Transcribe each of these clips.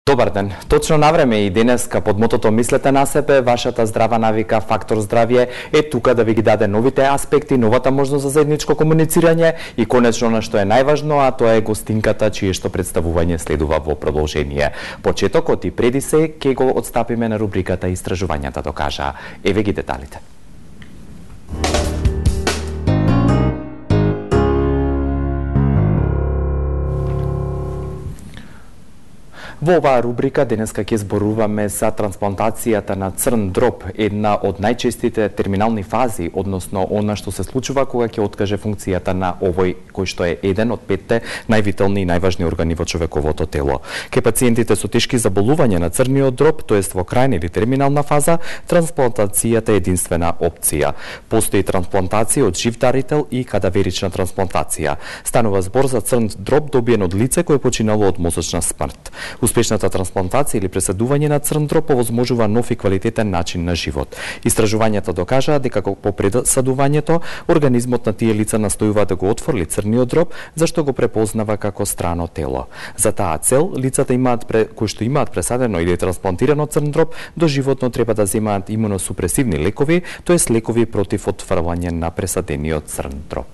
Добар ден. Точно на време и денеска под мотото Мислете на себе, вашата здрава навика Фактор здравје е тука да ви ги даде новите аспекти, новата можност за заедничко комуницирање и конечно на што е најважно, а тоа е гостинката чие што представување следува во продолжение. Почетокот и преди се ќе го отстапиме на рубриката Истражувањата докажаа. Еве ги деталите. Во оваа рубрика денеска ќе зборуваме за трансплантацијата на црн дроб, една од најчестите терминални фази, односно она што се случува кога ќе откаже функцијата на овој кој што е еден од 5 највитални и најважни органи во човековото тело. Ке пациентите со тешки заболувања на црниот дроб, тоест во крајна или терминална фаза, трансплантацијата е единствена опција. Постои трансплантација од жив дарител и кадаверична трансплантација. Станува збор за црн дроб добиен од лице кое починало од мозочна смрт. Успешната трансплантација или пресадување на црн дроб овозможува нов и квалитетен начин на живот. Истражувањата докажаа дека по пресадувањето организмот на тие лица настојува да го отфрли црниот дроб, зашто го препознава како страно тело. За таа цел, лицата кои што имаат пресадено или трансплантирано црн дроб, доживотно треба да земаат имуносупресивни лекови, тоест лекови против отфрлање на пресадениот црн дроб.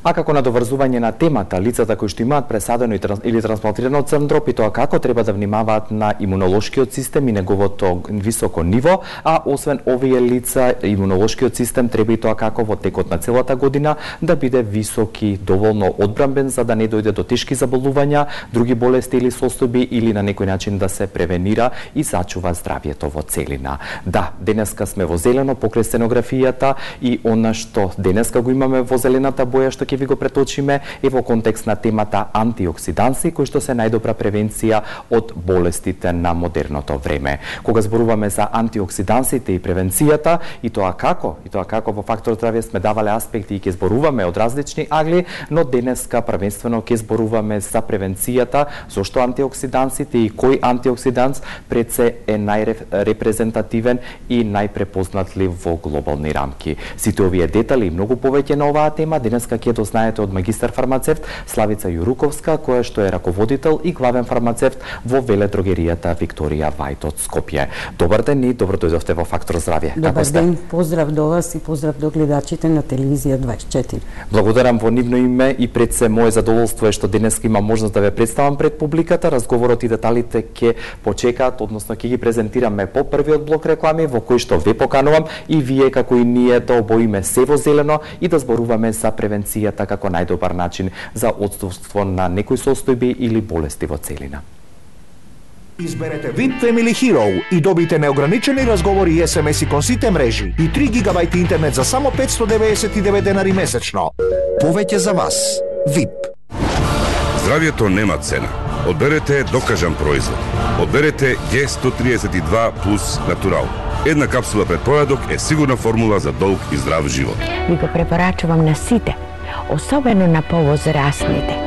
А како надоврзување на темата, лицата кои што имаат пресадено или трансплантирано црн дроб и тоа како треба да внимаваат на имунолошкиот систем и неговото високо ниво, а освен овие лица, имунолошкиот систем треба и тоа како во текот на целата година да биде висок и доволно одбранбен за да не дојде до тешки заболувања, други болести или состојби или на некој начин да се превенира и сачува здравјето во целина. Да, денеска сме во зелено покрај сценографијата и она што денеска го имаме во зелената боја што ви го преточиме е во контекст на темата антиоксиданси, кои што се најдобра превенција од болестите на модерното време. Кога зборуваме за антиоксидансите и превенцијата, и тоа како во Фактор здравје сме давале аспекти и ќе зборуваме од различни агли, но денеска првенствено ќе зборуваме за превенцијата, зошто антиоксидансите и кој антиоксиданс пред се е најрепрезентативен и најпрепознатлив во глобални рамки. Сите овие детали и многу повеќе на оваа тема денеска ќе знаете од магистар фармацевт Славица Јуруковска, која што е раководител и главен фармацевт во веледрогеријата Викторија Вајт од Скопје. Добар ден и добро дојдовте во Фактор здравје. Добар ден, поздрав до вас и поздрав до гледачите на телевизија 24. Благодарам во нивно име и пред се мое задоволство е што денеска имам можност да ве представам пред публиката. Разговорот и деталите ќе почекаат, односно ќе ги презентираме по првиот блок реклами во кој што ве поканувам и вие како и ние да обоиме се во зелено и да зборуваме за превенцијата како најдобар начин за отсуство на некои состојби или болести во целина. Изберете VIP Family Hero и добите неограничени разговори и SMS-и кон сите мрежи и 3 гигабајти интернет за само 599 денари месечно. Повеќе за вас. VIP. Здравјето нема цена. Одберете докажан производ. Одберете G132 плюс натурал. Една капсула пред појадок е сигурна формула за долг и здрав живот. Ви го препорачувам на сите, особено на повозрастните.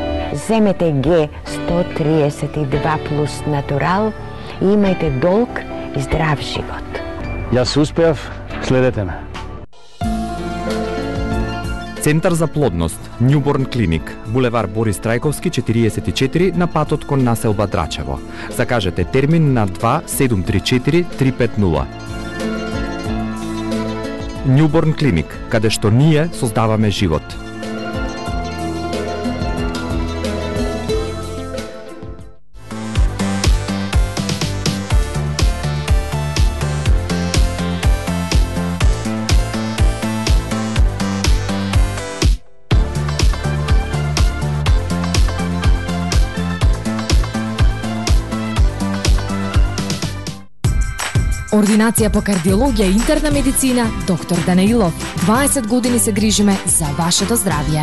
Земете G132 плюс натурал и имајте долг и здрав живот. Јас успеав, следете ме. Центар за плодност, Newborn Clinic, булевар Борис Трајковски 44 на патот кон населба Драчево. Закажете термин на 2734 350. Newborn Clinic, каде што ние создаваме живот. Ординација по кардиологија и интерна медицина, доктор Данаилов. 20 години се грижиме за вашето здравје.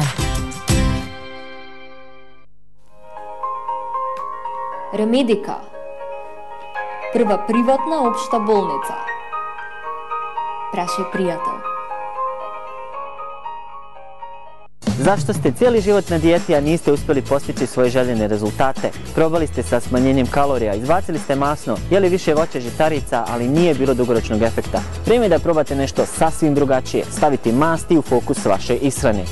Ремедика. Прва приватна општа болница. Прашај пријател. Zašto ste cijeli život na dijeti, a niste uspjeli postići svoje željene rezultate? Probali ste sa smanjenjem kalorija, izbacili ste masno, jeli više voća, žitarica, ali nije bilo dugoročnog efekta. Vrijeme je da probate nešto sasvim drugačije, staviti masti u fokus vaše ishrane.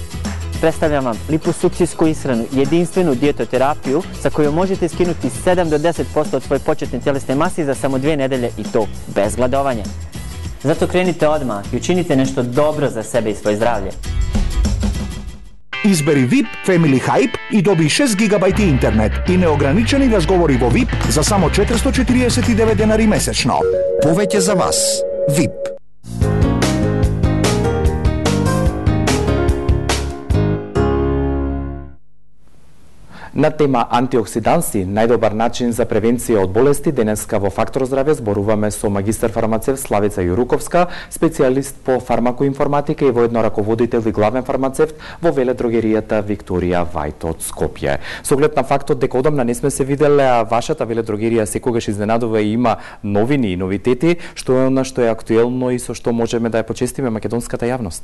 Predstavljam vam liposukcijsku ishranu, jedinstvenu dijetoterapiju sa kojom možete skinuti 7 do 10% od svoje početne tjelesne mase za samo 2 nedelje i to bez gladovanja. Zato krenite odmah i učinite nešto dobro za sebe i svoje zdravlje. Избери VIP Family Hype и доби 6 GB интернет и неограничени разговори во VIP за само 449 денари месечно. Повеќе за вас. VIP. На тема антиоксиданси, најдобар начин за превенција од болести, денеска во Фактор здравје зборуваме со магистар фармацевт Славица Јуруковска, специјалист по фармакоинформатика и воедно раководител и главен фармацевт во веледрогеријата Викторија Вајт од Скопје. Со оглед на фактот дека одамна не сме се виделе, а вашата веледрогерија секогаш изненадува и има новини и новитети, што е она што е актуелно и со што можеме да ја почестиме македонската јавност.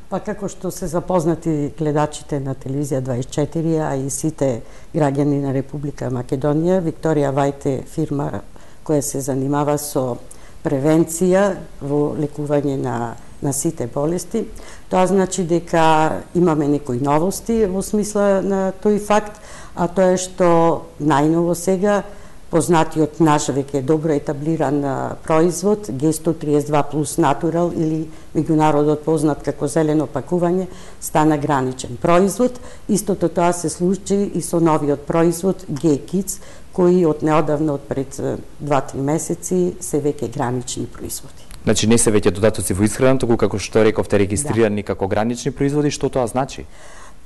Па како што се запознати гледачите на телевизија 24, а и сите граѓани на Република Македонија, Викторија Вајт е фирма која се занимава со превенција во лекување на сите болести. Тоа значи дека имаме некои новости во смисла на тој факт, а тоа е што најново сега познатиот наш веќе добро етаблиран производ G132 плюс Natural или меѓународот познат како зелено пакување стана граничен производ. Истото тоа се случи и со новиот производ G-Kids, кои од неодавно, од пред 2-3 месеци се веќе гранични производи. Значи не се веќе додатоци во исхрана, туку како што рековте регистрирани како гранични производи, што тоа значи?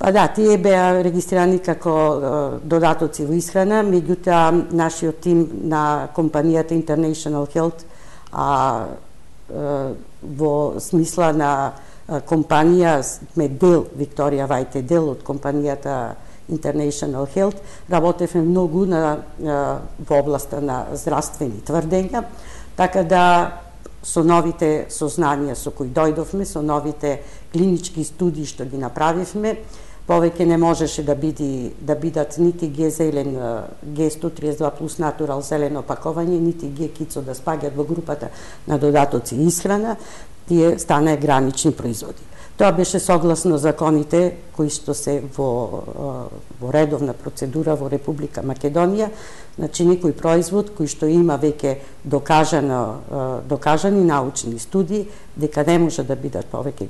Па да, тие беа регистрирани како додатоци во исхрана, меѓутоа нашиот тим на компанијата International Health, во смисла на компанија сме дел, Викторија Вајт е дел од компанијата International Health, работевме многу во областа на здравствени тврдења, така да со новите сознанија со кои дојдовме, со новите клинички студии што ги направивме, повеќе не можеше да бидат нити G132 плюс Natural зелено пакување, нити G-Kids да спаѓат во групата на додатоци и исхрана, тие стана гранични производи. Тоа беше согласно законите кои што се во редовна процедура во Република Македонија, значи некој производ кој што има веќе докажани научни студии дека не може да бидат повеќе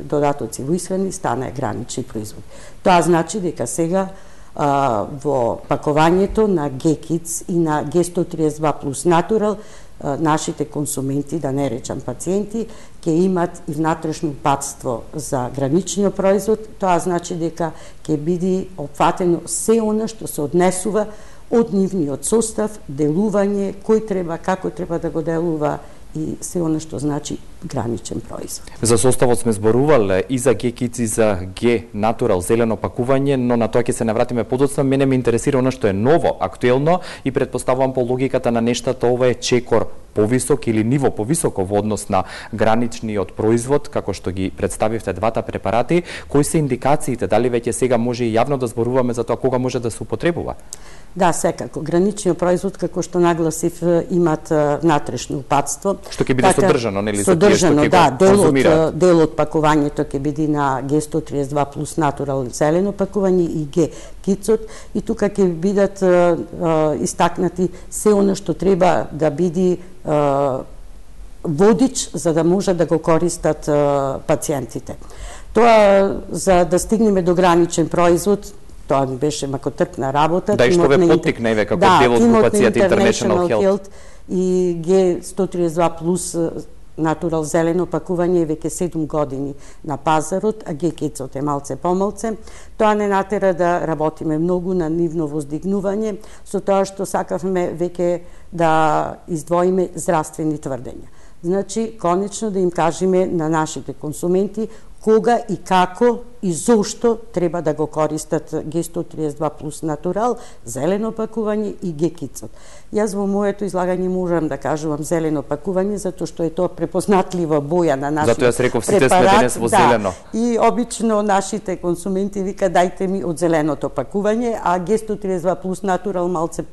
додатоци во исхрани, стана гранични производи. Тоа значи дека сега во пакувањето на G-Kids и на G132 плюс Natural нашите консументи, да не речам пациенти, ќе имат и внатрешно упатство за граничниот производ. Тоа значи дека ќе биде опфатено се она што се однесува од нивниот состав, делување, кој треба, како треба да го делува и се она што значи граничен производ. За составот сме зборувале и за G-Kids и за G-Natural зелено пакување, но на тоа ќе се навратиме подоцна. Мене ме интересира она што е ново, актуелно и предпоставувам по логиката на нештата ова е чекор повисок или ниво повисоко во однос на граничниот производ, како што ги представивте двата препарати. Кои се индикациите? Дали веќе сега може и јавно да зборуваме за тоа кога може да се употребува? Да, секако. Граничниот производ, како што нагласив, имат внатрешно упатство. Што ќе биде содржано, нели? Содржано, да. Дел од пакувањето ќе биде на G132 плюс Natural зелено пакување и G-Kids, и тука ќе бидат истакнати се она што треба да биде водич за да може да го користат пациентите. Тоа за да стигнеме до граничен производ, тоа беше макотрпна работа. Да, и што ве поттикна еве како дел од групацијата International Health и G132 плюс Natural зелено пакување е веќе 7 години на пазарот, а G-Kids е малце помалце. Тоа не натера да работиме многу на нивно воздигнување, со тоа што сакавме веќе да издвоиме здравствени тврдења. Значи, конечно да им кажеме на нашите консументи кога и како и зошто треба да го користат Г132 плюс натурал, зелено пакување и Г-кицот. Јас во моето излагање можам да кажувам зелено пакување, затоа што е тоа препознатлива боја на нашиот препарат. Затоа јас реков сите сме денес во зелено. И обично нашите консументи вика дајте ми од зеленото пакување, а Г132 плюс натурал малце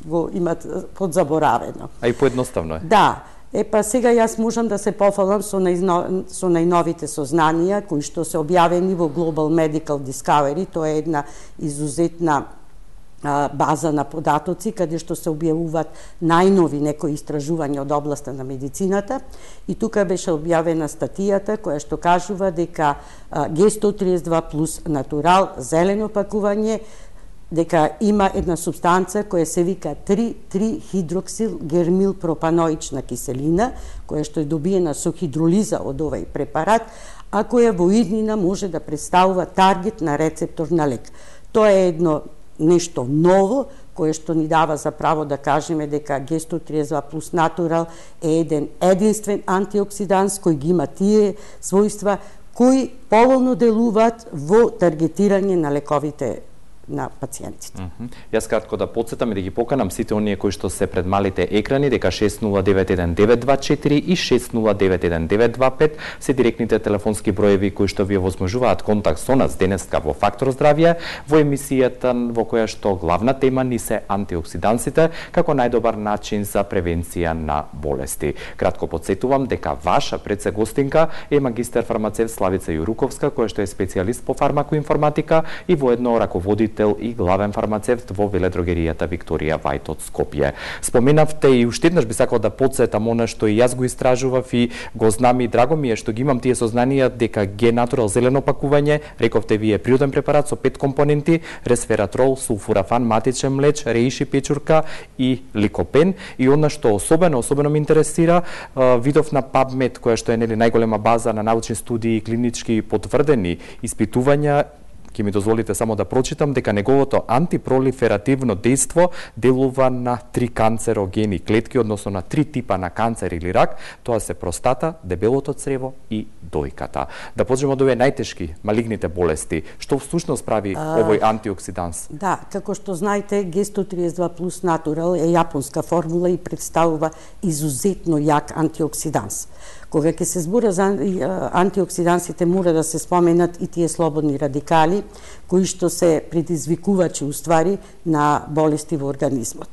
го имат подзаборавено. А и поедноставно е. Да. Па сега јас можам да се пофалам со најновите сознанија кои што се објавени во Global Medical Discovery. Тоа е една изузетна база на податоци каде што се објавуваат најнови некои истражувања од областа на медицината, и тука беше објавена статијата која што кажува дека Г132 плюс натурал зелено пакување дека има една субстанца која се вика 3,3-хидроксил гермилпропаноична киселина, која што е добиена со хидролиза од овој препарат, а која во иднина може да представува таргет на рецептор на лек. Тоа е едно нешто ново, кое што ни дава за право да кажеме дека Г132 плюс натурал е еден единствен антиоксиданс кој ги има тие својства кои поволно делуваат во таргетирање на лековите на пациентите. Јас кратко да подсетам и да ги поканам сите оние кои што се пред малите екрани дека 6091-924 и 6091-925 се директните телефонски броеви кои што ви овозможуваат контакт со нас денеска во Фактор здравје, во емисијата во која што главна тема ни се антиоксидансите како најдобар начин за превенција на болести. Кратко подсетувам дека ваша предсе гостинка е магистер фармацевт Славица Јуруковска, која што е специјалист по фармакоинформатика и воедно раководител и главен фармацевт во веледрогеријата Викторија Вајт од Скопје. Споменавте и уште еднаш би сакал да подсетам она што и јас го истражував и го знам и драго ми е што ги имам тие сознанија дека Г-натурал зелено пакување, рековте вие природен препарат со 5 компоненти: ресвератрол, сулфурафан, матичен млеч, реиши печурка и ликопен. И она што особено ме интересира, видов на PubMed, која што е најголема база на научни студии и клинички потврдени испитувања, ќе ми дозволите само да прочитам дека неговото антипролиферативно дејство делува на 3 канцерогени клетки, односно на 3 типа на канцер или рак, тоа се простата, дебелото црево и дојката. Да почнеме од овие најтешки малигните болести. Што всушност прави овој антиоксиданс? Да, како што знаете, Г132 плюс натурал е јапонска формула и представува изузетно јак антиоксиданс. Кога ќе се збора за антиоксидансите, мора да се споменат и тие слободни радикали, кои што се предизвикувачи уствари на болести во организмот.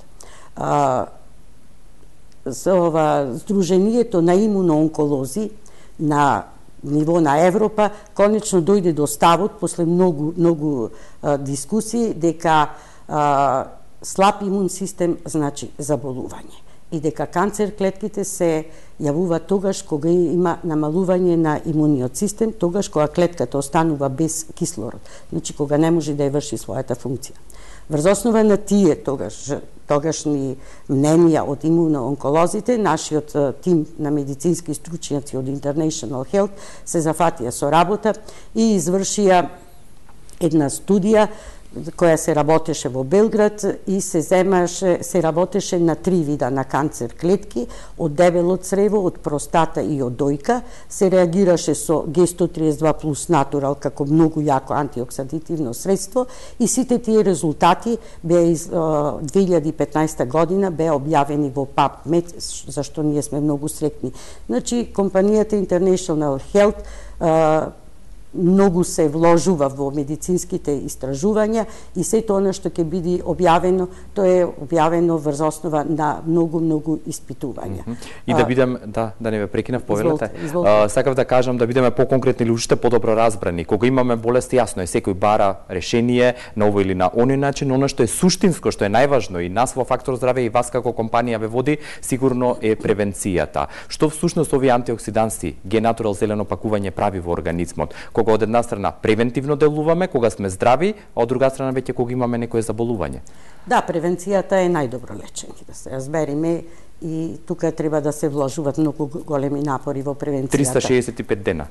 Сдруженијето на имуноонколози на ниво на Европа конечно дојде до ставот после многу дискусии дека слаб имун систем значи заболување и дека канцер клетките се јавува тогаш кога има намалување на имуниот систем, тогаш кога клетката останува без кислород, значи кога не може да ја врши својата функција. Врз основа на тие тогашни мненија од имуноонколозите, нашиот тим на медицински стручњаци од International Health се зафатија со работа и извршија една студија која се работеше во Белград и се работеше на 3 вида на канцер клетки, од дебело црево, од простата и од дојка. Се реагираше со Г132 плюс натурал како многу јако антиоксидативно средство и сите тие резултати беа 2015 година беа објавени во PubMed, зашто ние сме многу среќни. Значи, компанијата International Health многу се вложува во медицинските истражувања и сето она што ќе биде објавено, тоа е објавено врз основа на многу испитувања. И да бидем, да не ве прекинав, повелете. Сакав да кажам да бидеме поконкретни или уште подобро разбрани. Кога имаме болест, јасно е, секој бара решение на овој или на оној начин, оно што е суштинско, што е најважно и нас во Фактор здравје и вас како компанија ве води, сигурно е превенцијата. Што всушност овие антиоксиданси, Г-натурал зелено пакување прави во организмот? Кога од една страна превентивно делуваме, кога сме здрави, а од друга страна веќе кога имаме некое заболување. Да, превенцијата е најдобро лечење, да се разбереме, и тука треба да се вложуваат многу големи напори во превенцијата. 365 дена.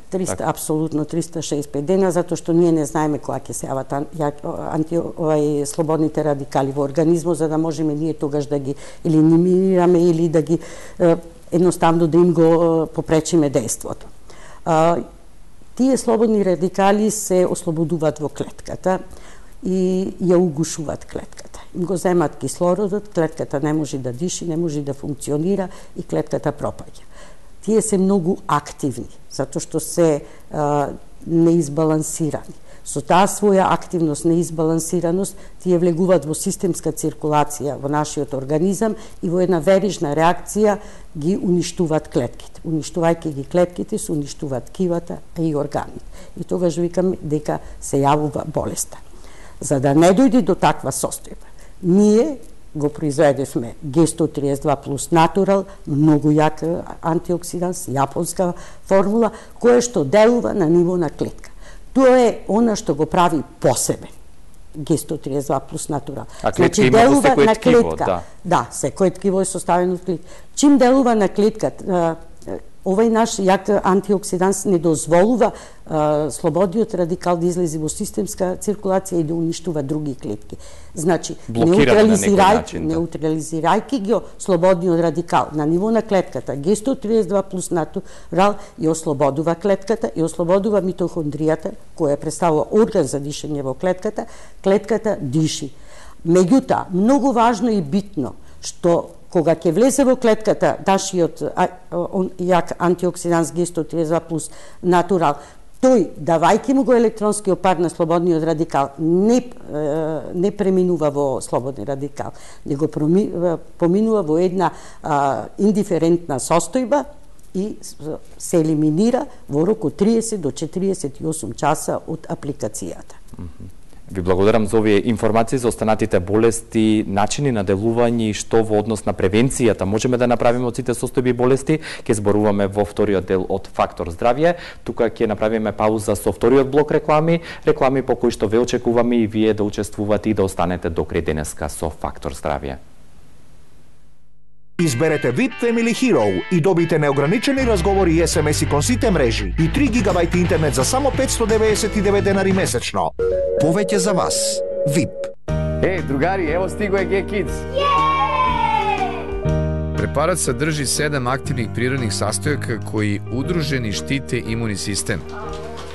Апсолутно 365 дена, затоа што ние не знаеме кога ќе се јават слободните радикали во организмот, за да можеме ние тогаш да ги елиминираме или да ги едноставно да им го попречиме дејството. Тие слободни радикали се ослободуваат во клетката и ја угушуваат клетката. Им го земат кислородот, клетката не може да диши, не може да функционира и клетката пропаѓа. Тие се многу активни, затоа што се неизбалансирани. Со таа своја активност, неизбалансираност, тие влегуваат во системска циркулација во нашиот организам и во една верижна реакција ги уништуваат клетките. Уништувајќи ги клетките, се уништуваат кивата и органите. И тогаш викам дека се јавува болеста. За да не дојде до таква состојба, ние го произведевме G132 плюс Natural, многу јак антиоксиданс, јапонска формула, која што делува на ниво на клетка. Тоа е она што го прави посебен. G132 плюс Natural. А клетка има во секој ткиво, да. Да, секој ткиво е составено од клетка. Чим делува на клетката, овај наш јак антиоксиданс не дозволува слободниот радикал да излезе во системска циркулација и да уништува други клетки. Значи, неутрализирајќи ги слободниот радикал на ниво на клетката, G132 плюс Natural ја ослободува клетката и ослободува митохондријата, која представува орган за дишење во клетката, клетката диши. Меѓутоа, многу важно и битно, што кога ќе влезе во клетката нашиот јак антиоксиданс G132 плюс Natural, тој, давајќи му го електронскиот пар на слободниот радикал, не преминува во слободни радикал, него поминува во една индиферентна состојба и се елиминира во рок од 30 до 48 часа од апликацијата. Ви благодарам за овие информации за останатите болести, начини на делување и што во однос на превенцијата можеме да направиме од сите состојби и болести. Ке зборуваме во вториот дел од Фактор здравје. Тука ќе направиме пауза со вториот блок реклами по кои што ве очекуваме и вие да учествувате и да останете до крај денеска со Фактор здравје. Изберете VIP Family Hero и добите неограничени разговори и SMS-и кон сите мрежи и 3 гигабајти интернет за само 599 денари месечно. Повеќе за вас. VIP. Другари, ево стиго е G-Kids. Препарат садржи 7 активних природних састојака кои удружени штите имуни систем.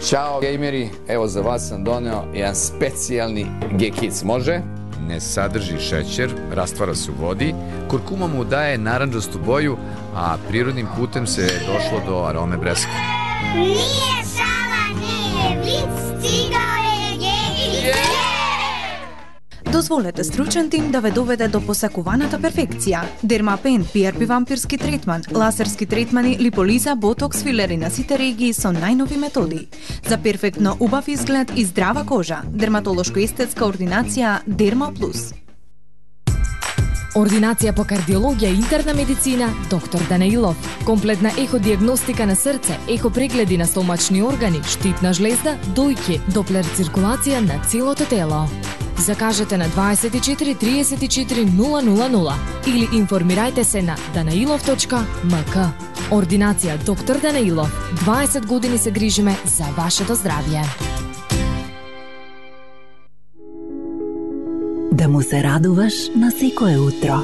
Чао, геймери, ево за вас сам донео еден специјални G-Kids, може? Не садржи шеќер, раствара се у води, куркума му дае наранџасту боју, а природним путем се дошло до ароме бреска. Nije šala, nije vic, stigao je G-Kids. Дозволете стручен тим да ве доведе до посакуваната перфекција. Дермапен, PRP вампирски третман, лазерски третмани, липолиза, ботокс, филери на сите регии со најнови методи. За перфектно убав изглед и здрава кожа. Дерматолошко-естетска ординација Дерма Плюс. Ординација по кардиологија и интерна медицина доктор Данаилов. Комплетна еходиагностика на срце, ехопрегледи на стомачни органи, штитна жлезда, дојки, доплер циркулација на целото тело. Закажете на 24 34 000 или информирајте се на danailov.mk. Ординација доктор Данаилов. 20 години се грижиме за вашето здравје. Да му се радуваш на секое утро.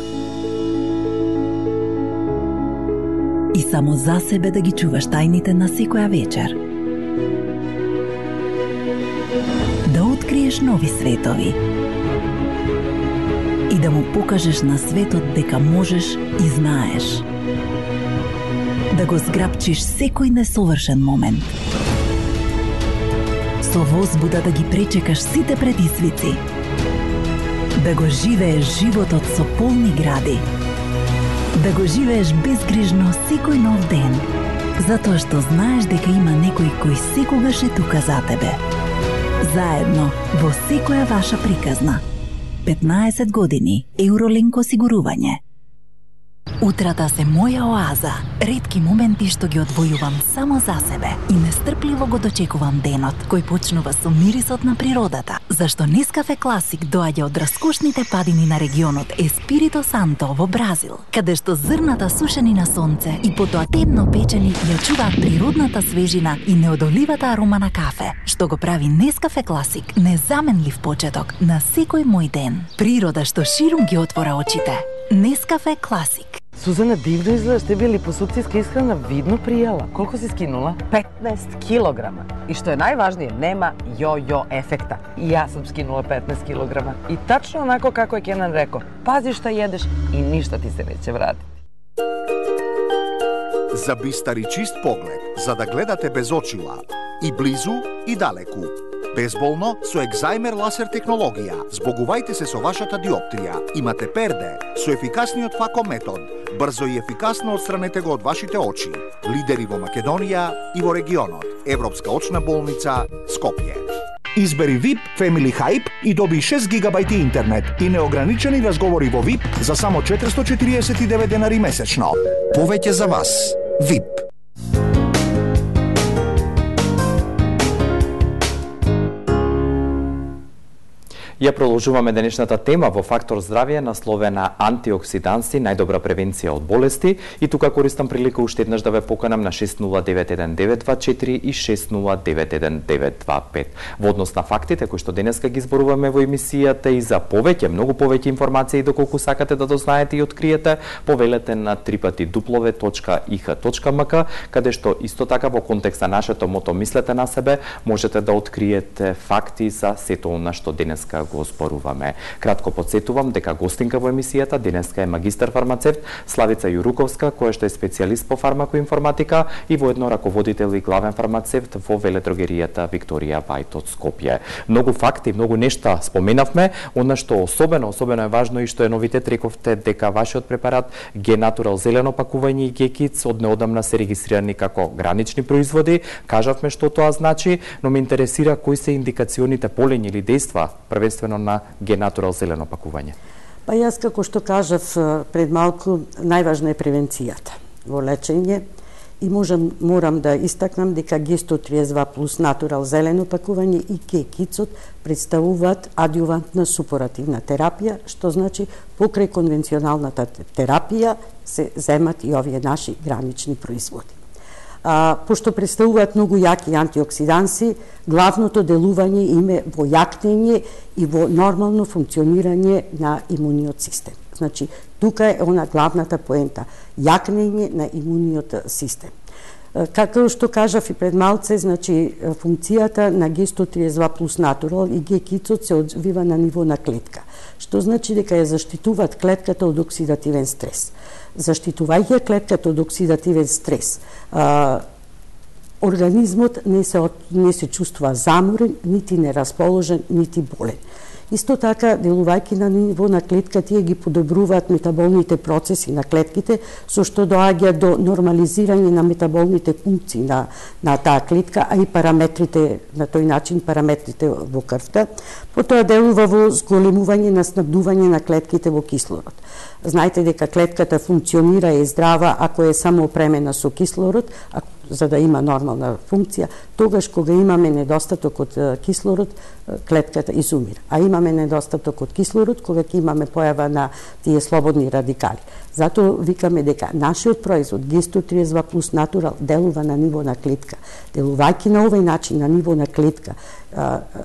И само за себе да ги чуваш тајните на секоја вечер. Да откриеш нови светови. И да му покажеш на светот дека можеш и знаеш. Да го зграпчиш секој несовршен момент. Со возбуда да ги пречекаш сите предизвици. Да го живееш животот со полни гради. Да го живееш безгрижно секој нов ден. Затоа што знаеш дека има некој кој секогаш е тука за тебе. Заедно во секоја ваша приказна. 15 години Евролинк осигурување. Утрата се моја оаза, ретки моменти што ги одвојувам само за себе и нестрпливо го дочекувам денот, кој почнува со мирисот на природата, зашто Нескафе Класик доаѓа од раскошните падини на регионот Еспирито Санто во Бразил, каде што зрната сушени на сонце и потоа темно печени ја чуваат природната свежина и неодоливата арома на кафе, што го прави Нескафе Класик незаменлив почеток на секој мој ден. Природа што ширум ги отвора очите. Нескафе Класик. Сузана, дивно изгледаш, те били липосукцијска исхрана видно пријела. Колку си скинула? 15 килограма. И што е најважнije, нема јо-јо ефекта. И јас сум скинула 15 килограма. И тачно онако како е Кенан реко, пази што едеш и ништо ти се неќе врати. За бистар и чист поглед, за да гледате без очила, и близу и далеку. Безболно со екзајмер ласер технологија. Збогувајте се со вашата диоптрија. Имате перде со ефикасниот фако метод. Брзо и ефикасно отстранете го од вашите очи. Лидери во Македонија и во регионот. Европска очна болница Скопје. Избери VIP Family Hype и доби 6 гигабајти интернет и неограничени разговори во VIP за само 449 денари месечно. Повеќе за вас. VIP. Ја продолжуваме денешната тема во Фактор здравје насловена антиоксиданси, најдобра превенција од болести, и тука користам прилика уште еднаш да ве поканам на 6091-924 и 6091-925. Во однос на фактите кои што денеска ги зборуваме во емисијата и за повеќе, многу повеќе информации доколку сакате да дознаете и откриете, повелете на www.ih.mk, каде што исто така во контекст на нашето мото "Мислете на себе" можете да откриете факти за сето она што денеска го зборуваме. Кратко подсетувам дека гостинка во емисијата денеска е магистар фармацевт Славица Јуруковска, која што е специјалист по фармакоинформатика и воедно раководител и главен фармацевт во веледрогеријата Викторија Вајт од Скопје. Многу факти, многу нешта споменавме, она што особено е важно и што е новитет, рековте дека вашиот препарат Г-Натурал зелено пакување и Г-Кидс од неодамна се регистрирани како гранични производи. Кажавме што тоа значи, но ме интересира кои се индикационите полења или дејства првенствено на Г-Натурал зелено пакување. Па јас како што кажав пред малку, најважна е превенцијата во лечење и морам да истакнам дека Г132 плюс Натурал зелено пакување и Г-Кидсот представуваат адјувантна супоративна терапија, што значи покрај конвенционалната терапија се земат и овие наши гранични производи. Пошто представуваат многу јаки антиоксиданси, главното делување им е во јакнење и во нормално функционирање на имуниот систем. Значи, тука е она главната поента, јакнење на имуниот систем. Како што кажав и пред малце, значи, функцијата на Г132 плюс Натурал и Г-Кидсот се одвива на ниво на клетка, што значи дека ја заштитуваат клетката од оксидативен стрес. Заштитувајќи клетката од оксидативен стрес, организмот не се чувствува заморен, нити нерасположен, нити болен. Исто така, делувајќи на ниво на клетка, тие ги подобруваат метаболните процеси на клетките, со што доаѓа до нормализирање на метаболните функции на таа клетка, а и параметрите, на тој начин параметрите во крвта. Потоа делува во зголемување на снабдување на клетките во кислород. Знаете дека клетката функционира и здрава ако е само опремена со кислород, за да има нормална функција. Тогаш кога имаме недостаток од кислород, клетката изумира. А имаме недостаток од кислород кога ќе имаме појава на тие слободни радикали. Затоа викаме дека нашиот производ Г132 плюс Натурал делува на ниво на клетка. Делувајќи на овој начин на ниво на клетка,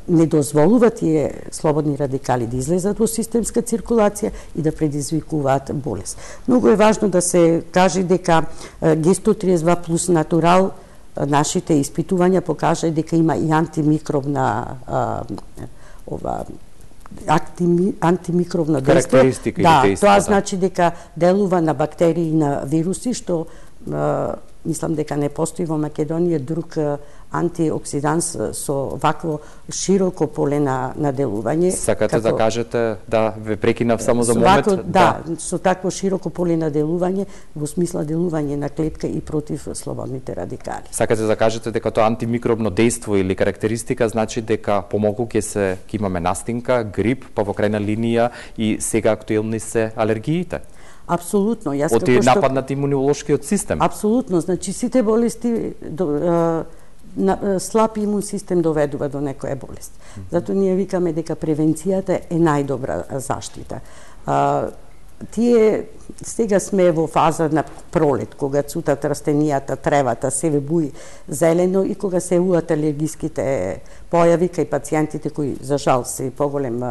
не дозволува тие слободни радикали да излезат во системска циркулација и да предизвикуваат болест. Многу е важно да се каже дека Г132 плюс Натурал, нашите испитувања покажа дека има и антимикробна антимикробна карактеристика. Да, тоа значи дека делува на бактерии и на вируси, што мислам дека не постои во Македонија друг антиоксиданс со вакво широко поле на делување. Сакате да кажете, да ве прекинав само за момент? Да, со такво широко поле на делување, во смисла делување на клетка и против слободните радикали. Сакате да кажете дека тоа антимикробно дејство или карактеристика значи дека помалку ќе имаме настинка, грип, па во крајна линија и сега актуелни се алергиите? Апсолутно. Од нападнат имунолошкиот систем? Апсолутно. Значи, сите болести слаб имун систем доведува до некоја болест. Затоа ние викаме дека превенцијата е најдобра заштита. Тие сега сме во фаза на пролет, кога цутат растенијата, тревата, се буи зелено и кога се уат алергиските појави кај пациентите кои за жал се поголем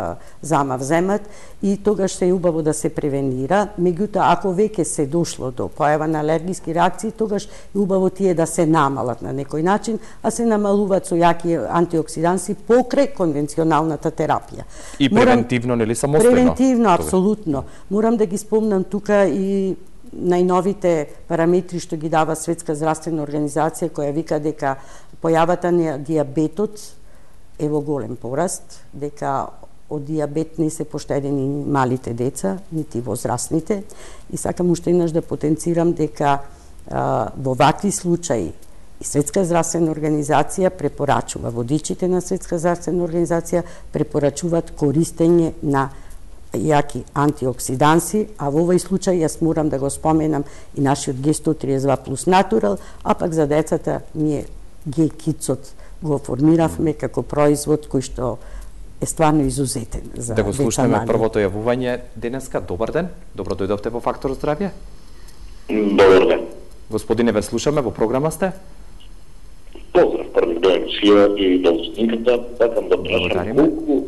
замав земат и тогаш се убаво да се превенира. Меѓутоа ако веќе се дошло до појава на алергиски реакции, тогаш е убаво тие да се намалат на некој начин, а се намалуваат со јаки антиоксиданси покрај конвенционалната терапија. И превентивно, нели самостојно? Превентивно, апсолутно. Морам да ги спомнам тука и најновите параметри што ги дава Светска здравствена организација, која вика дека појавата на дијабетот е во голем пораст, дека од дијабет не се поштедени малите деца, нити возрастните. И сакам уште еднаш да потенцирам дека во вакви случаи и Светска здравствена организација препорачува, водичите на Светска здравствена организација препорачуваат користење на јаки антиоксиданси, а во овој случај јас морам да го споменам и нашиот Г132 плюс натурал, а пак за децата ние Г-кицот го формиравме како производ кој што е стварно изузетен за да го слушнеме деца првото јавување денеска. Добар ден, добро дојдовте во Фактор здравје. Добар ден. Господине, ве слушаме, во програма сте. Поздрав, први до емисија и до снимката. Сакам да прашам колку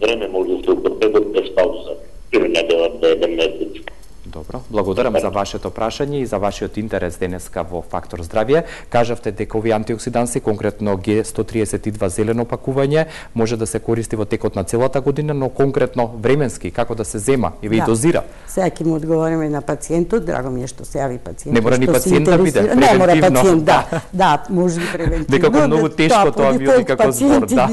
време може да се употреби без пауза, или недела до еден месец. Добро, благодарам за вашето прашање и за вашиот интерес денеска во Фактор здравје. Кажавте дека овие антиоксиданси, конкретно Г132 зелено пакување, може да се користи во текот на целата година, но конкретно временски, како да се зема и ви дозира? Сега ќе му одговориме на пациентот, драго ми е што се јави пациентот. Не мора ни пациент да биде, превентивно. Не мора пациент, да, може и превентивно. Дека многу тешко тоа би оди како збор, да.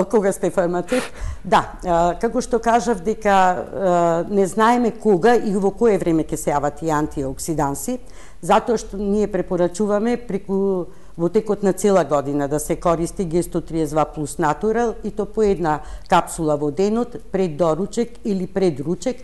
Кога сте фармацевт. Да, како што кажав дека не знаеме кога и во кое време ќе се јават и антиоксиданси, затоа што ние препорачуваме преку во текот на цела година да се користи Г132 плюс натурал и то по една капсула во денот пред доручек или пред ручек.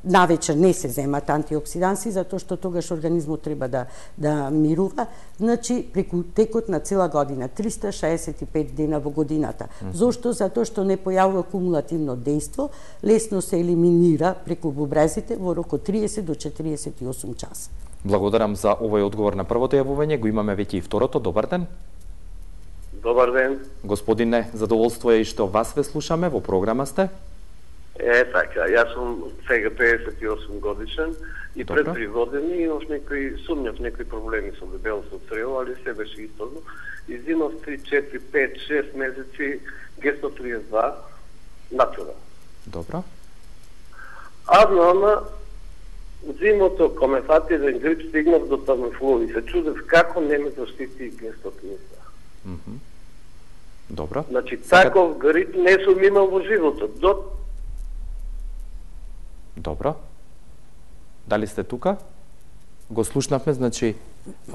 Навечер не се земат антиоксиданси, затоа што тогаш организмот треба да мирува. Значи, преку текот на цела година, 365 дена во годината. Зошто? Затоа што не појавува кумулативно дејство, лесно се елиминира преку бубрезите во рок од 30 до 48 часа. Благодарам за овој одговор на првото јавување. Го имаме веќе и второто. Добар ден. Добар ден. Господине, задоволство е и што вас ве слушаме, во програма сте. Така, јас сум сега 58 годишен и пред 3 години имав сумњав некои проблеми со дебелост од црево, али се беше исторно. Изимав 3, 4, 5, 6 месеци Г132 натурал. Добро. Ама зимото, коме фати еден грип, стигнав до тамифлу и се чудев како не ме заштити Г132. Добро. Значи, таков грип не сум имал во животот. Добро. Дали сте тука? Го слушнавме, значи,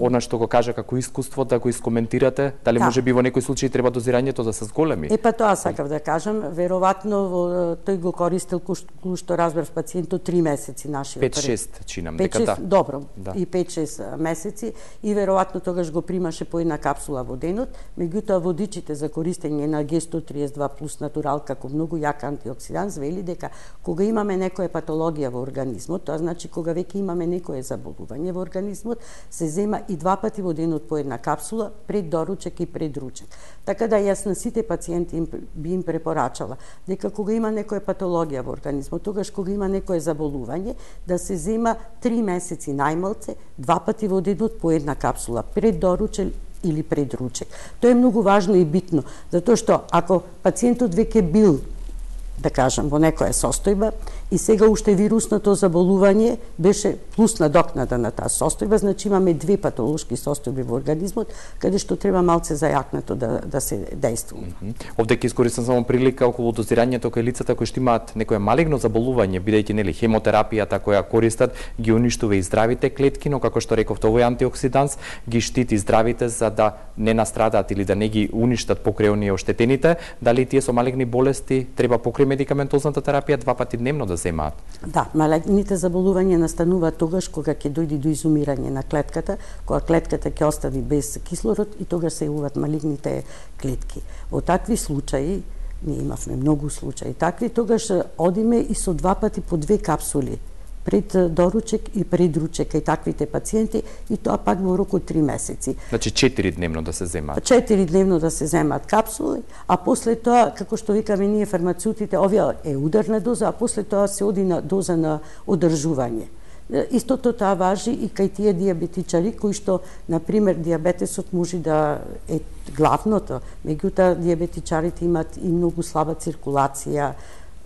она што го кажа како искуство, да го искоментирате, дали може би во некој случај треба дозирањето да се зголеми? Па тоа сакав да кажам, веројатно тој го користел кој што разбрав пациентот 3 месеци нашиот. 5-6 чинам дека да. Добро, и 5-6 месеци и веројатно тогаш го примаше по една капсула во денот, меѓутоа водичите за користење на Г132 плюс натурал како многу јак антиоксиданс вели дека кога имаме некоја патологија во организмот, тоа значи кога веќе имаме некое заболување во организмот, се зема и 2 пати во денот по една капсула пред доручек и пред ручек. Така да јас на сите пациенти би им препорачала дека кога има некоја патологија во организмот, тогаш кога има некое заболување, да се зема 3 месеци најмалце 2 пати во денот по една капсула пред доручек или пред ручек. Тоа е многу важно и битно, затоа што ако пациентот веќе бил, да кажам, во некоја состојба и сега уште вирусното заболување беше плюс надокнада на таа состојба, значи имаме 2 патолошки состојби во организмот, каде што треба малце зајакнато да се дејствува. Овде ќе искористам само прилика околу дозирањето кај лицата кои што имаат некое малигно заболување, бидејќи нели хемотерапијата која користат ги уништува и здравите клетки, но како што рековте, овој антиоксиданс ги штити здравите за да не настрадаат или да не ги уништат покрај оние оштетените. Дали тие со малигни болести треба покрај медикаментозната терапија 2 пати дневно да земаат? Да, малигните заболувања настануваат тогаш кога ќе дојде до изумирање на клетката, кога клетката ќе остане без кислород и тогаш се јавуваат малигните клетки. Во такви случаи ние имавме многу случаи такви, тогаш одиме и со 2 пати по 2 капсули пред доручек и пред ручек и таквите пациенти, и тоа пак во рок од 3 месеци. Значи 4 дневно да се земаат. 4 дневно да се земаат капсули, а после тоа, како што викаме ние фармацеутите, овие е ударна доза, а после тоа се оди на доза на одржување. Истото тоа важи и кај тие диабетичари кои што, например, диабетесот може да е главното, меѓутоа диабетичарите имаат и многу слаба циркулација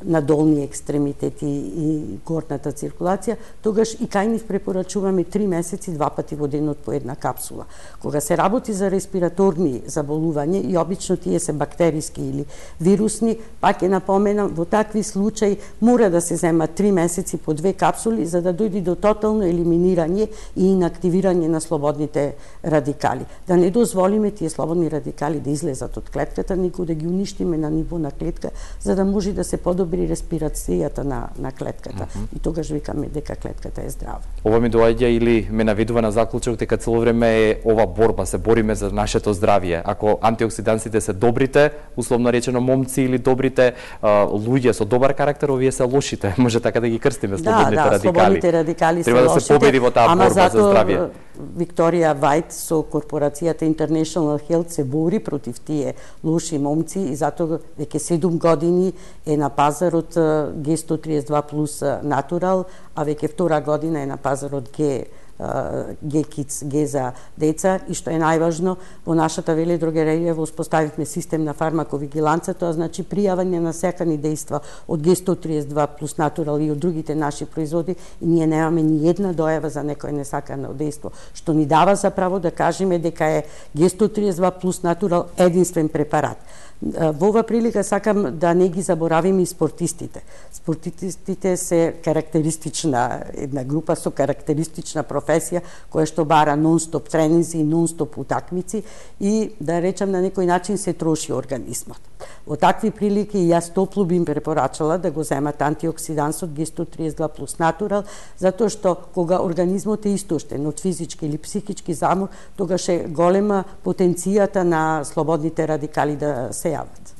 на долни екстремитети и горната циркулација, тогаш и кај нив препорачуваме 3 месеци 2 пати во денот по една капсула. Кога се работи за респираторни заболувања и обично тие се бактериски или вирусни, пак ќе напоменам, во такви случаи мора да се зема 3 месеци по 2 капсули за да дојде до тотално елиминирање и инактивирање на слободните радикали. Да не дозволиме тие слободни радикали да излезат од клетката, никога да ги уништиме на ниво на клетка, за да може да се подобри респирацијата на клетката. И тогаш викаме дека клетката е здрава. Ова ми доаѓа или ме наведува на заклучок дека цело време е ова борба, се бориме за нашето здравје. Ако антиоксидансите се добрите, условно речено момци, или добрите луѓе со добар карактер, овие се лошите. Може така да ги крстиме, слободните радикали. Слободните радикали треба да се победи во таа борба за здравје. Викторија Вајт со корпорацијата International Health се бори против тие лоши момци и затоа веќе 7 години е на пазарот G132 плюс Natural, а веќе 2 година е на пазарот G-Kids, G за деца, и што е најважно, во нашата веледрогерија воспоставивме систем на фармаковигиланца, тоа значи пријавање на секани дејства од G132 плюс Natural и од другите наши производи, и ние немаме ни една дојава за некој несакано дејство, што ни дава за право да кажеме дека е G132 плюс Natural единствен препарат. Во ова прилика сакам да не ги заборавиме и спортистите. Спортистите се карактеристична една група со карактеристична професија која што бара нон-стоп тренинзи и нон-стоп утакмици и да речам на некој начин се троши организмот. Во такви прилики јас топло би им препорачала да го земат антиоксидансот G132 плюс Natural, затоа што кога организмот е истоштен од физички или психички замор, тогаш е голема потенцијата на слободните радикали да се јават.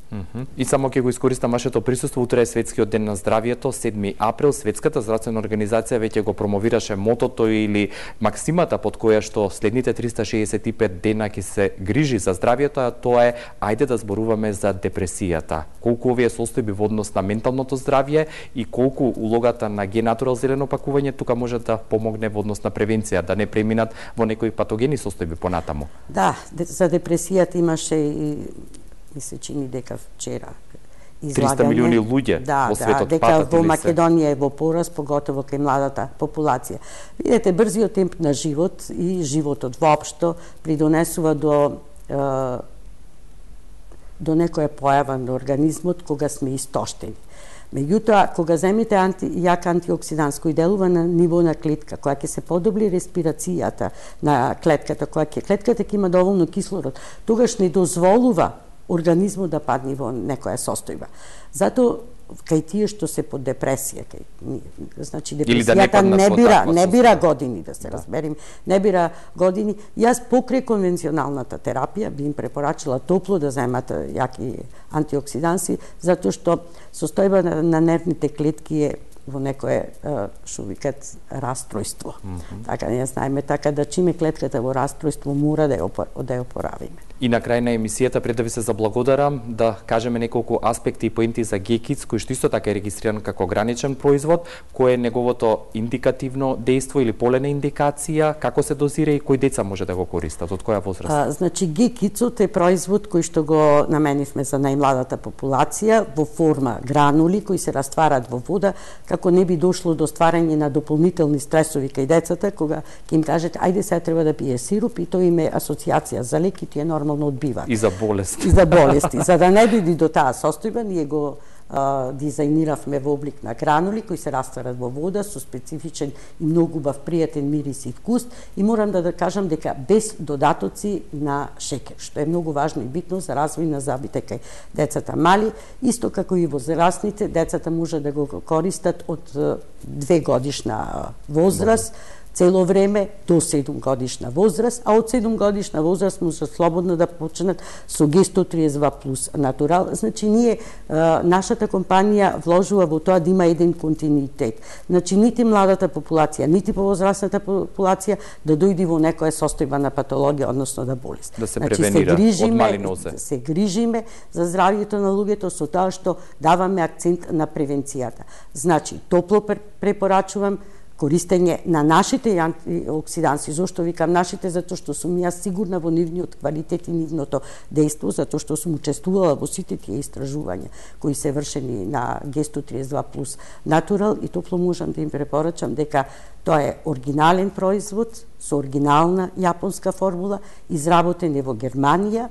И само ќе го искористам вашето присуство, утре е Светскиот ден на здравието, 7 април. Светската здравствена организација веќе го промовираше мотото или максимата под која што следните 365 дена ќе се грижи за здравието, а тоа е ајде да зборуваме за депресијата. Колку овие состојби во однос на менталното здравје и колку улогата на G-Natural зелено пакување тука може да помогне во однос на превенција, да не преминат во некои патогени состојби понатаму. Да, за депресијата имаше и ми се чини дека вчера излагање. 300 милиони луѓе во светот дека патат во Македонија е во порас, поготово кај младата популација. Видете, брзиот темп на живот и животот воопшто придонесува до некоја појава на организмот кога сме истоштени. Меѓутоа, кога земите јак антиоксиданс кој делува на ниво на клетка, која ќе се подобри респирацијата на клетката, клетката ќе има доволно кислород, тогаш не дозволува организмот да падне во некоја состојба. Затоа кај тие што се под депресија, значи депресијата не бира години, да се разберем, не бира години. Јас покрај конвенционалната терапија би им препорачала топло да земат јаки антиоксиданси, затоа што состојба на нервните клетки е во некое, што викат, растројство. Така ние знаеме, така да чиме клетката во растројство мора да ја опоравиме. И на крај на емисијата, пред да ви се заблагодарам, да кажеме неколку аспекти и поенти за G-Kids, кој што исто така е регистриран како граничен производ, кој е неговото индикативно дејство или полена индикација, како се дозира и кои деца може да го користат, од која возраст? Значи, G-Kidsот е производ кој што го наменивме за најмладата популација во форма гранули кои се растварат во вода, како не би дошло до стварање на дополнителни стресови кај децата, кога ќе им кажете, ајде сега треба да пие сируп, и тоа им е асоциација за лек и тие нормално одбиваат. И за болести. И за болести. За да не дојде до таа состојба, ние го дизајниравме во облик на гранули кои се растварат во вода со специфичен и многу убав пријатен мирис и вкус, и морам да кажам дека без додатоци на шекер, што е многу важно и битно за развој на зъбите кај децата мали, исто како и возрастните. Децата може да го користат од 2 годишна возраст цело време до 7 годишна возраст, а од 7 годишна возраст може слободно да почнат со Г132 плюс натурал. Значи ние нашата компанија вложува во тоа да има еден континуитет. Значи нити младата популација, нити повозрасната популација да дојде во некоја состојба на патологија, односно да болест. Да се превенира од мали нозе. Се грижиме за здравјето на луѓето со тоа што даваме акцент на превенцијата. Значи, топло препорачувам користење на нашите антиоксиданси. Зошто викам нашите? Затоа што сум јас сигурна во нивниот квалитет и нивното дејство, затоа што сум учествувала во сите тие истражувања кои се вршени на Г132 плюс натурал и топло можам да им препорачам дека тоа е оригинален производ со оригинална јапонска формула, изработен е во Германија,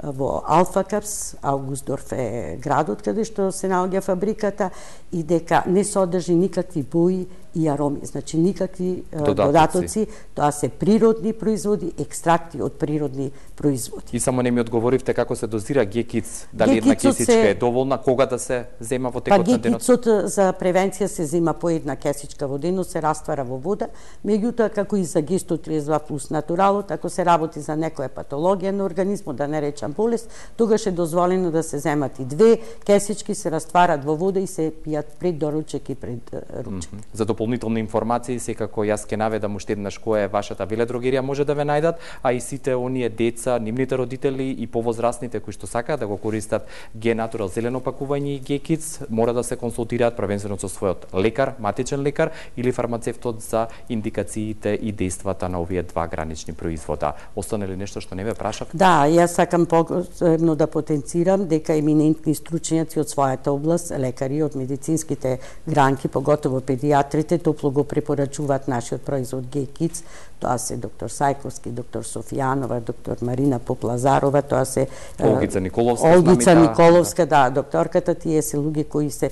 во Алфакапс, Аугустдорф е градот каде што се наоѓа фабриката, и дека не содржи никакви бои и ароми, значи никакви додатоци, тоа се природни производи, екстракти од природни производи. И само не ми одговоривте како се дозира гекиц, дали една кесичка е доволна, кога да се зема во текот на денот? Гекицот за превенција се зема по една кесичка во денот, се раствара во вода, меѓутоа како и за Г132 плюс натуралот, ако се работи за некоја патологија на организмот, да не речам болест, тогаш е дозволено да се земат и 2 кесички, се растварат во вода и се пијат пред доручек и пред ручек. За дополнителни информации, секако јас ќе наведам уште еднаш која е вашата веледрогерија, може да ве најдат, а и сите оние деца, нивните родители и повозрастните кои што сакаат да го користат Г-натурал зелено пакување и Г-киц, мора да се консултираат првенствено со својот лекар, матичен лекар или фармацевтот за индикациите и дејствата на овие два гранични производа. Остане ли нешто што не ве прашав? Да, јас сакам посебно да потенцирам дека еминентни стручњаци од својата област, лекари од медицинските гранки, поготово педиатрите, топло го препорачуваат нашиот производ Г-киц. Тоа се доктор Сајковски, доктор Софијанова, доктор Марина Поплазарова, тоа се Олгица Николовска, Олгица Николовска, да, докторката, тие се луѓе кои се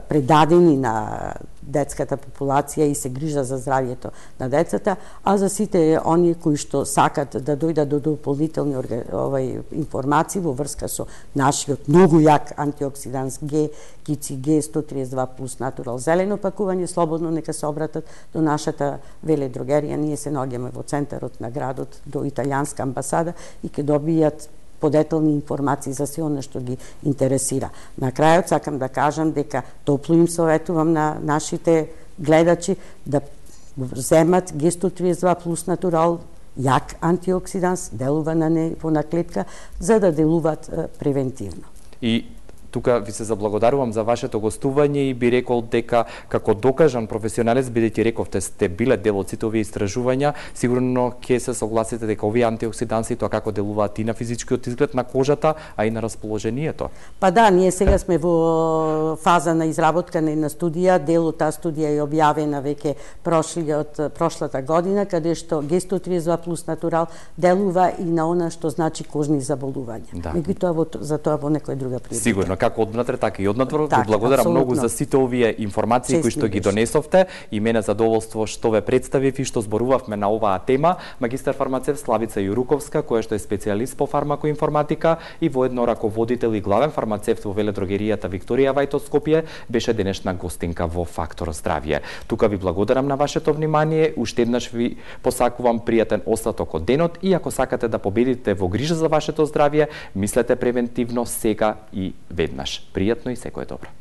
предадени на детската популација и се грижа за здравјето на децата, а за сите оние кои што сакат да дојдат до дополнителни информации во врска со нашиот многу јак антиоксиданс Г-киц и Г132 плюс натурал зелено пакување, слободно нека се обратат до нашата веледрогерија. Ние се наоѓаме во центарот на градот, до италијанска амбасада, и ќе добијат подетелни информации за се оно што ги интересира. На крајот сакам да кажам дека топло им советувам на нашите гледачи да земат Г132 плюс натурал, јак антиоксиданс, делува на ниво на клетка, за да делуваат превентивно. И тука ви се заблагодарувам за вашето гостување и би рекол дека како докажан професионалец, бидејќи рековте сте биле дел од сите овие истражувања, сигурно ќе се согласите дека овие антиоксиданси тоа како делуваат и на физичкиот изглед на кожата, а и на расположението. Па да, ние сега сме во фаза на изработка на една студија, дел од таа студија е објавена веќе прошлата година, каде што Г132 плюс натурал делува и на она што значи кожни заболувања. Да. Меѓутоа за тоа во некоја друга прилика. Сигурно, како однатре, така и однатвор. Ви благодарам многу за сите овие информации кои што ги донесовте, и мене задоволство што ве представив и што зборувавме на оваа тема. Магистар фармацевт Славица Јуруковска, која што е специјалист по фармакоинформатика и воедно раководител и главен фармацевт во веледрогеријата Викторија Вајто Скопје, беше денешна гостинка во Фактор здравје. Тука ви благодарам на вашето внимание, уште еднаш ви посакувам пријатен остаток од денот, и ако сакате да победите во грижа за вашето здравје, мислете превентивно сега и веднаш. Пријатно и секое добро.